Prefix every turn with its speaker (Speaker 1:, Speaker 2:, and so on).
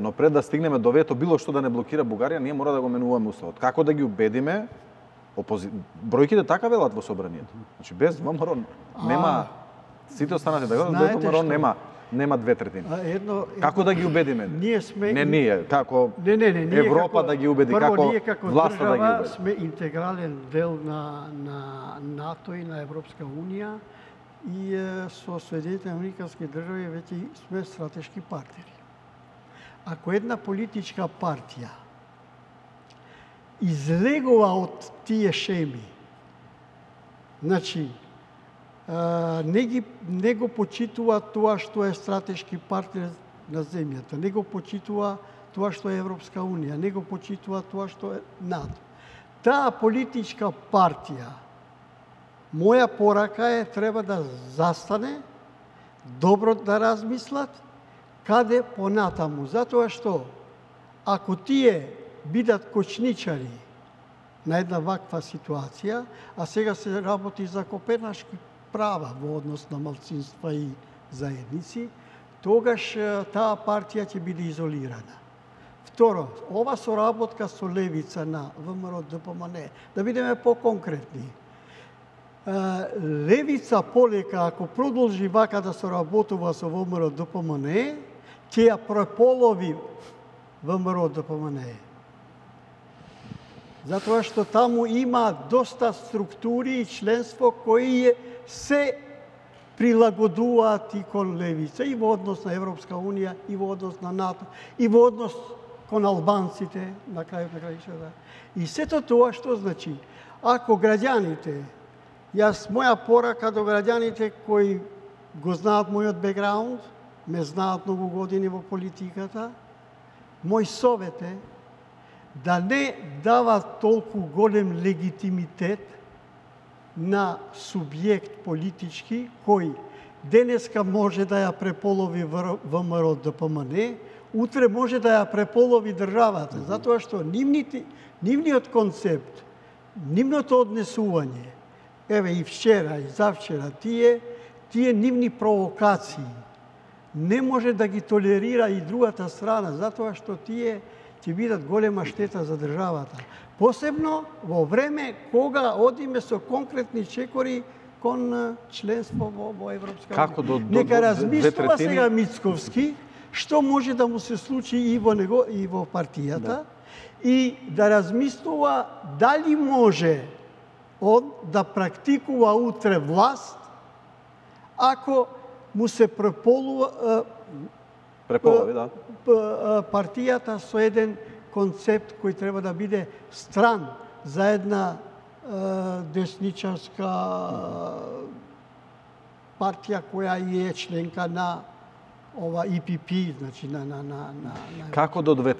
Speaker 1: Но пред да стигнеме до вето било што да не блокира Бугарија, ние мора да го менуваме уставот. Како да ги убедиме? Бројките така велат во собранието. Значи без ВМРО нема сите останати така, без ВМРО нема 2/3. Како да ги убедиме?
Speaker 2: Ние сме
Speaker 1: ние како
Speaker 2: ние
Speaker 1: Европа да ги убеди, како власта да ги убеди.
Speaker 2: Сме интегрален дел на НАТО и на Европска унија и со Соединетите американски држави веќе сме стратешки партнери. Ако една политичка партија излегува од тие шеми, значи, не го почитува тоа што е стратешки партнер на земјата, не го почитува тоа што е Европска унија, не го почитува тоа што е НАТО. Таа политичка партија, моја порака е, треба да застане, добро да размислат, каде понатаму. Затоа што, ако тие бидат кочничари на една ваква ситуација, а сега се работи за копенашки права во однос на малцинства и заедници, тогаш таа партија ќе биде изолирана. Второ, ова соработка со левица на ВМРО ДПМН, да бидеме по-конкретни. Левица полека, ако продолжи вака да соработува со ВМРО ДПМН, ќе ја преполови ВМРО ДПМН. Затоа што таму има доста структури и членство кои се прилагодуваат и кон левица, и во однос на Европска унија, и во однос на НАТО, и во однос кон албанците, на крајот на крајшата. И сето тоа што значи, ако граѓаните, моја порака до граѓаните кои го знаат мојот бекграунд, ме знаат многу години во политиката, мој совет е да не дава толку голем легитимитет на субјект политички кој денеска може да ја преполови ВМРО ДПМН, утре може да ја преполови државата, затоа што нивниот концепт, нивното однесување, еве и вчера и завчера, тие нивни провокации не може да ги толерира и другата страна, затоа што тие ќе бидат голема штета за државата. Посебно во време кога одиме со конкретни чекори кон членство во Европска унија. Нека размислува сега Мицковски што може да му се случи и во партијата и да размислува дали може он да практикува утре власт ако му се преполови партијата со еден концепт кој треба да биде стран за една десничарска партија која е членка на ова ИПП, значи на
Speaker 1: Како до